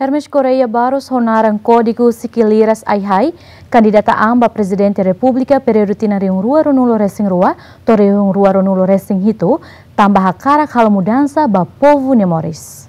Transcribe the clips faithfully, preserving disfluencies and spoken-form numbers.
Hermes Correia Barros ho naran kódigu Sikiliras Ai-Hai kandidata an ba Prezidente Repúblika períodu tinan rihun rua ruanulu resin rua to'o rihun rua ruanulu resin hitu, tanba hakarak halo mudansa ba povu nia moris.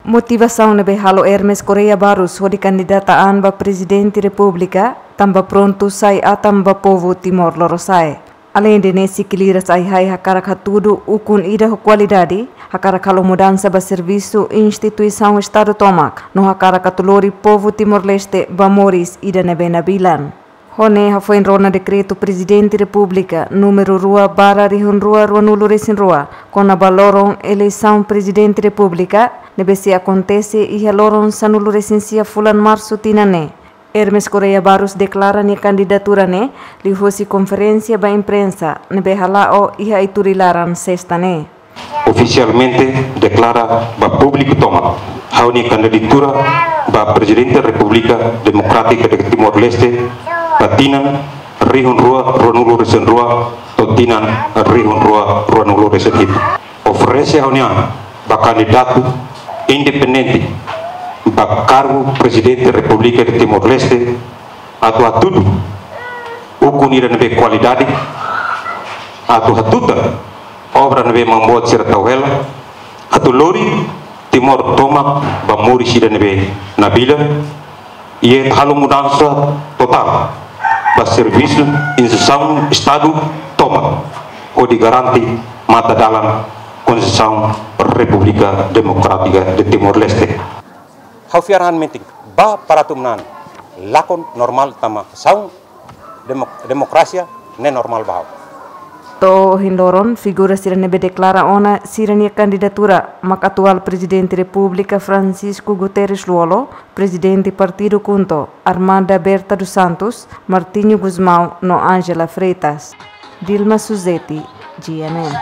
Motivasaun ne'ebé halo Hermes Correia Barros hodi kandidata an ba Prezidente Repúblika, tanba prontu sai atan ba povu Timor Lorosa'e. Aleinde ne'e, Sikiliras Ai-Hai hakarak hatudu ukun ida ho kualidade, hakarak halo mudansa ba servisu instituisaun Estadu tomak, no hakarak atu lori povu Timor-Leste ba moris ida ne'ebé nabilan. Ho ne'e hafoin rona dekretu Prezidente Repúblika númeru rua barra rihun rua ruanulu resin rua, kona-ba loron eleisaun Prezidente Repúblika, ne'ebé sei akontese iha loron sanulu resin sia fulan Marsu tinan ne'e. Hermes Correia Barros deklara nia kandidatura ne'e liuhosi konferénsia ba imprensa ne'ebé hala'o iha Aituri laran Sesta ne'e. Ofisialmente deklara ba públiku tomak ha'u-nia kandidatura ba Prezidente Repúblika Demokrátika de Timor-Leste ba tinan rihun rua ruanulu resin rua to'o tinan rihun rua ruanulu resin hitu. Oferese ha'u-nia an ba kandidatu independente ba kargu Prezidente Repúblika de Timor-Leste atu hatudu ukun ida ne'ebé kualidade, atu hatutan obra ne'ebé maun-boot sira tau hela, atu lori Timor tomak ba moris ida ne'ebé nabilan, i atu halo mudansa totál ba servisu instituisaun Estadu tomak, hodi garante matadalan Konstituisaun Repúblika Demokrátika de Timor-Leste. Ha'u fiar an metin ba para atu manán lakon normál tama saun demo-, demokrasia ne'e normál ba ha'u. To'o ohin loron, figura sira ne'ebé deklara ona sira-nia kandidatura mak atuál Prezidente Repúblika Francisco Guterres Lú-Olo, Prezidente Partidu KHUNTO Armanda Berta dos Santos, Martinho Gusmão no Ángela Freitas. Dilma Suzeti, G M N.